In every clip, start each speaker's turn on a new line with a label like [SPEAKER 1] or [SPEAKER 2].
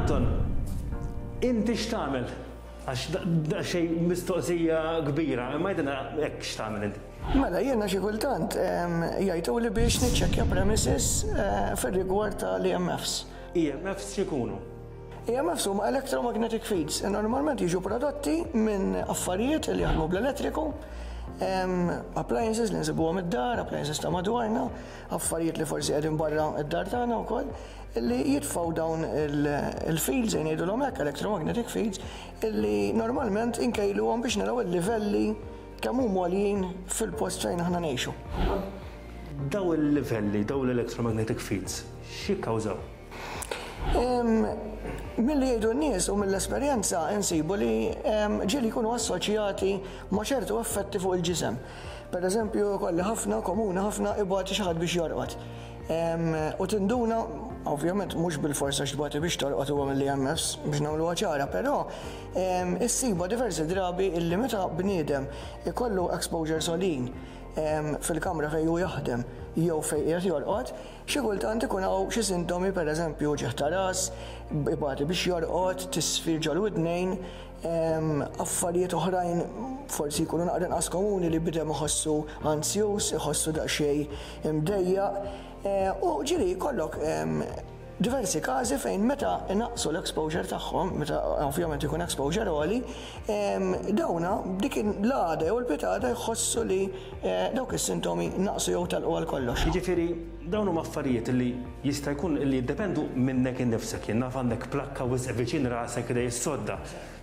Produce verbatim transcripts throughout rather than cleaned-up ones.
[SPEAKER 1] Anton, inti x'tagħmel? Għax da xej mistoqsija kbira, imma għidilna hekk x'tagħmel inti.
[SPEAKER 2] Mela, jiena xi kultant jgħajtu li biex niċċekkja premises eh, fir-rigward tal-E M Fs.
[SPEAKER 1] E M Fs x'ikunu?
[SPEAKER 2] E M Fs huma electromagnetic fields. Normalment jiġu prodotti minn affarijiet li jaħdmu bl-elettriku, appliances li nsibuhom id-dar, appliances ta' madwarna, affarijiet li forsi qegħdin barra id-dar tagħna wkoll, li jitfgħu dawn il-fields, ngħidulhom hekk, electromagnetic fields, illi normalment inkejluhom biex naraw il-livelli kemm huma għoljin fil-post fejn aħna ngħixu.
[SPEAKER 1] Daw il-livelli, daw l-electromagnetic fields, x'jikkawżaw?
[SPEAKER 2] Milli jgħidu n-nies u mill-esperjenza insibu li ġieli jkunu assoċjati ma' ċertu effetti fuq il-ġisem. Per eżempju, kolli ħafna, komuni ħafna, ibati xi ħadd biex jorqod. U tinduna, ovvjament mhux bil-forsa x'tbati biex torqod huwa mill-E M Fs biex nagħmluha ċara, però issiba diversi drabi illi meta bniedem ikollu exposure għoljin fil-kamra fejn hu jaħdem jew fejn qiegħed jorqod, xi kultant ikun hawn xi sintomi, pereżempju uġigħ ta' ras, ibati biex jorqod, tisfir ġol-widnejn, affarijiet oħrajn forsi jkunu naqra inqas komuni li bniedem iħossu ansjus, iħossu daqsxejn imdejjaq. U ġieli jkollok diversi każi fejn meta naqsu l-exposure tagħhom, meta ovvjament ikun exposure għoli, dawna dik l-għada jew il-pitgħada jħossu li eh, dawk is-sintomi naqsu jew telqu għal kollox.
[SPEAKER 1] Jiġifieri dawn huma affarijiet li jista' jkun li jiddependu minnek innifsek, jien naf għandek plakka wisq viċin rasek li jissodda.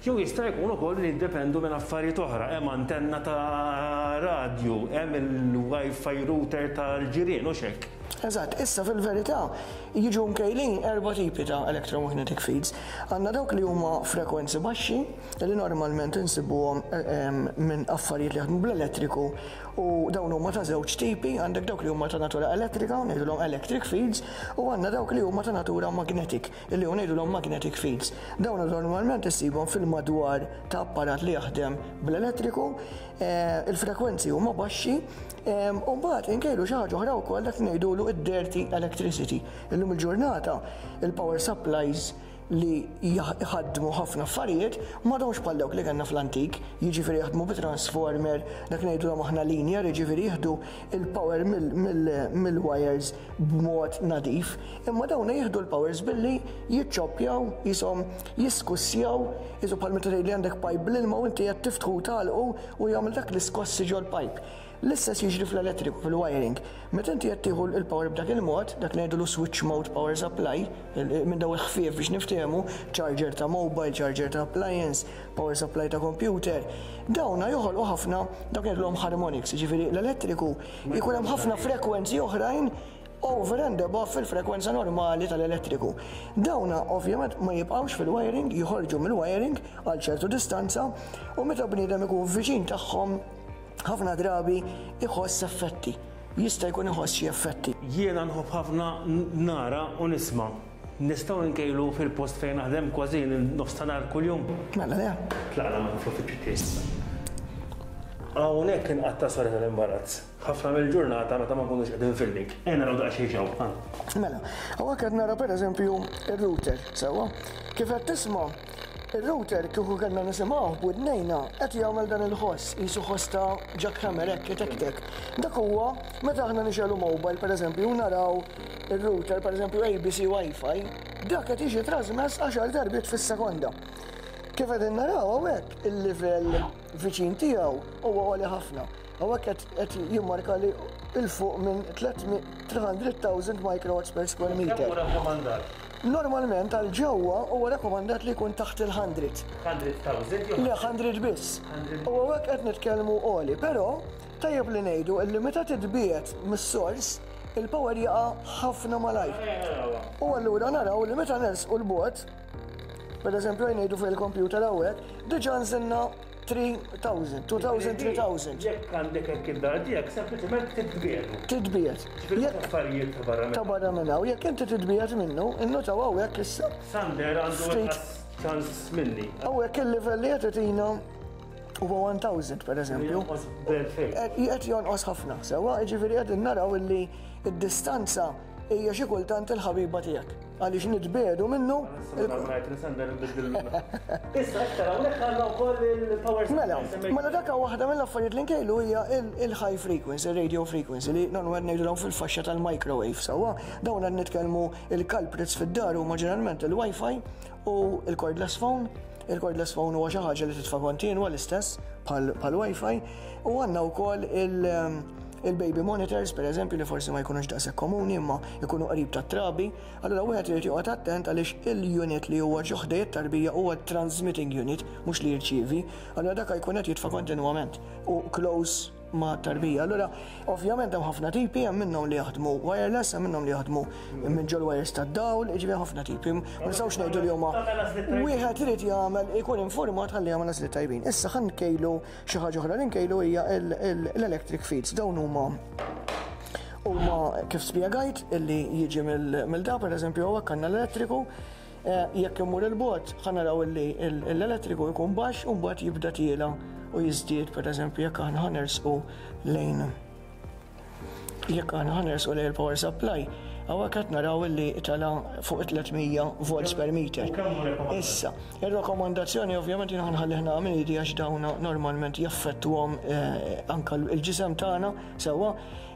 [SPEAKER 1] Jew jista' jkun ukoll li jiddependu minn affarijiet oħra, hemm antenna ta' radju, hemm il-Wi-Fi router tal-ġirien u xek.
[SPEAKER 2] Eżatt, issa fil-verità jiġu mkejlin erba' tipi ta' electromagnetic fields. Għandna dawk li huma frekwenzi baxxi, li normalment insibuhom minn affarijiet li jaħdmu bl-elettriku, u dawn huma ta' żewġ tipi: għandek dawk li huma ta' natura elettrika, ngħidulhom electric fields, u għandna dawk li huma ta' natura magnetic, li ngħidulhom magnetic fields. Dawn normalment issibhom fil-madwar ta' apparat li jaħdem bl-elettriku, eh, il-frekwenzi huma baxxi, u mbagħad inkejlu xi ħaġa oħra wkoll, dak ngħidulu id-dirty electricity. Illum il-ġurnata il-power supplies li jħaddmu ħafna affarijiet m'għadhomx bħal dawk li kellna fl-antik, jiġifieri jaħdmu bi transformer, dak ngħidulhom aħna linear, jiġifieri jieħdu il-power mill-wires b'mod nadif, imma dawn jieħdu l-powers billi jiċċoppjaw, jisom jiskussjaw, jisu bħal meta tgħid li għandek pipe bl-ilma u inti qed tiftħu tagħlqu u jagħmel dak l-iskossi ġol-pipe. L-istess jiġri fl-elettriku, fil-wiring. Meta inti qed tieħu il-power b'dak il-mod, dak ngħidulu switch mode power supply, minn daw il-ħfief biex niftehmu, charger ta' mobile, charger ta' appliance, power supply ta' computer, dawna joħolqu ħafna dak ngħidulhom harmonics, jiġifieri l-elettriku jkun hemm ħafna frekwenzi oħrajn over and above fil-frekwenza normali tal-elettriku. Dawna ovvjament ma jibqawx fil-wiring, joħorġu mill-wiring għal ċertu distanza u meta bniedem ikun viċin tagħhom ħafna drabi iħoss effetti. Jista' jkun iħoss xi effetti.
[SPEAKER 1] Jiena nħobb ħafna nara u nisma'. Nistgħu nkejlu fil-post fejn naħdem kważi nofs ta' nhar kuljum?
[SPEAKER 2] Mela le.
[SPEAKER 1] Tlaqna ma fl-uffiċċju tiegħi. Hawnhekk inqatta', sorry tal-imbarazz, ħafna mill-ġurnata meta ma nkunux qegħdin filming. Ejja naraw daqsxejn ġew.
[SPEAKER 2] Mela, hawnhekk qed nara pereżempju ir-router, sewwa. Kif qed tisma', ir-router, kieku kellna nisimgħu b'widnejna, qed jagħmel dan il-ħoss, qisu ħoss ta' jackhammer hekk itektek. Dak huwa meta aħna nixegħlu mobile, pereżempju, naraw ir-router, pereżempju A B C Wi-Fi, dak qed jiġi trasmess għaxar darbiet fis-sekonda. Kif qegħdin naraw hawnhekk, il-livell viċin tiegħu huwa għoli ħafna. Hawnhekk qed jimmarka li 'il fuq minn tliet mitt elf microwatts per square meter.
[SPEAKER 1] Kemm rakkomandat?
[SPEAKER 2] Normalment għal ġewwa huwa rakkomandat li jkun taħt il-mija.
[SPEAKER 1] mija elf jew
[SPEAKER 2] Le, mija biss. U hawnhekk qed nitkellmu għoli, però tajjeb li ngħidu illi meta titbiegħed mis-sors il-power jaqa' ħafna malajr. U allura naraw li meta nersqu 'l bogħod, per eżempju ngħidu fuq il-computer hawnhekk, diġà nżilna tliet elef, elfejn, tliet elef.
[SPEAKER 1] Jekk għandek hekk id-dar tiegħek, sempliċement titbiegħdu.
[SPEAKER 2] Titbiegħed.
[SPEAKER 1] Jekk affarijiet ta' barra
[SPEAKER 2] Ta' barra minn hawn, jekk inti titbiegħed minnu, innotaw hawnhekk issa.
[SPEAKER 1] Sander għandu
[SPEAKER 2] Ftit.
[SPEAKER 1] inqas ċans minni.
[SPEAKER 2] Hawnhekk il-livell li qed itina huwa elf per eżempju.
[SPEAKER 1] Jonqos b'elfejn.
[SPEAKER 2] Qed jonqos ħafna, sewwa, jiġifieri qed naraw illi id-distanza hija xi kultant il-ħabiba tiegħek. għaliex nitbiegħdu minnu.
[SPEAKER 1] Issa aktar hawnhekk għandna wkoll il-power.
[SPEAKER 2] Mela, mela dak waħda mill-affarijiet li nkejlu hija il-high frequency, radio frequency, li normalment ngħidulhom fil-faxxa tal-microwave sewwa. Dawn qed nitkellmu il-culprits fid-dar huma ġeneralment il-Wi-Fi u il-cordless phone. Il-cordless phone huwa xi ħaġa li titfa' kontinwa, l-istess bħal Wi-Fi, u għandna wkoll il- il-baby monitors, per eżempju, li forsi ma jkunux daqshekk komuni imma jkunu qrib tat-trabi. Allura wieħed irid joqgħod attent għaliex il-unit li huwa ġo ħdejn it-tarbija huwa transmitting unit, mhux li jirċievi. Allura dak jkun qed jitfa' kontinwament u close ma' tarbija. Allura, ovvjament hemm ħafna tipi, hemm minnhom li jaħdmu wireless, hemm minnhom li jaħdmu minn ġol wires tad-dawl, jiġifieri ħafna tipi. Ma nistgħux ngħidu li huma, wieħed irid jagħmel ikun informat ħalli jagħmel għażliet tajbin. Issa ħa nkejlu xi ħaġa oħra li nkejlu, hija l-electric fields. Dawn huma huma kif spjegajt illi jiġi mill-da, per eżempju, hawnhekk għandna l-elettriku, eh, jekk imur il-bogħod ħa naraw illi l-elettriku jkun baxx u mbagħad jibda tiela u jiżdied. Per eżempju, jekk aħna ħa nersqu lejn jekk aħna ħa nersqu lejn il-power supply, hawnhekk qed naraw illi tala fuq tliet mija volts per meter. Issa, ir-rakkomandazzjoni, ovvjament jiena ħanħalli ħna minn idi għax dawna normalment jaffettwhom eh, anka l-ġisem tagħna sewwa.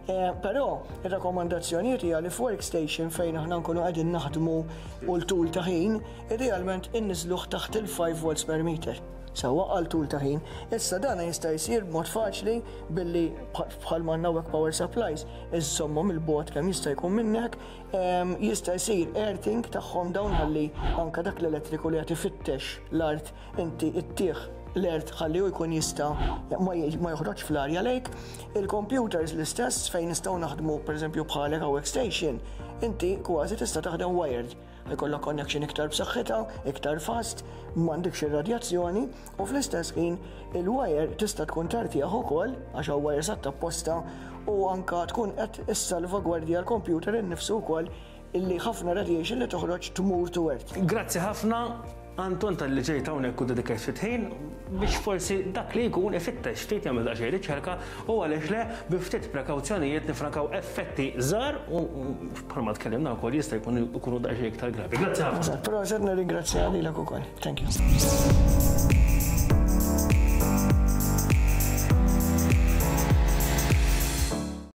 [SPEAKER 2] Eh, però ir-rakkomandazzjonijiet hija li f'workstation fejn aħna nkunu qegħdin naħdmu u l-tul ta' ħin, idealment inniżluh taħt il-ħamsa volts per meter sewwa għal tul ta' ħin. Issa dana jista' jsir b'mod faċli billi bħal ma power supplies iżommhom il-bogħod kemm jista' jkun minnek, jista' jsir earthing tagħhom dawn ħalli anka dak l-elettriku li qed ifittex l-art inti ittih l-earth ħalli u jkun jista' ma joħroġ fl-arja lejk. Il-computers l-istess, fejn nistgħu naħdmu, pereżempju bħalek workstation, inti kważi tista' taħdem wired, jkollok connection iktar b'saħħitha, iktar fast, m'għandekx ir-radjazzjoni u fl-istess ħin il-wire tista' tkun tartjaħ ukoll għax hawn wires apposta u anka tkun qed issalvagwardja l-computer innifsu wkoll, illi ħafna radiation li toħroġ tmur to earth.
[SPEAKER 1] Grazzi ħafna, Anton, talli ġejt hawnhekk u dedikajt ftit ħin biex forsi dak li jkun ifittex ftit, jagħmel daqsxejn riċerka u għaliex le, bi ftit prekawzjonijiet nifrankaw effetti żgħar u bħalma tkellimna wkoll jista' jkun ikunu daqsxejn iktar gravi. Grazzi ħafna.
[SPEAKER 2] Però se nirringrazzja lilek ukoll. Thank you.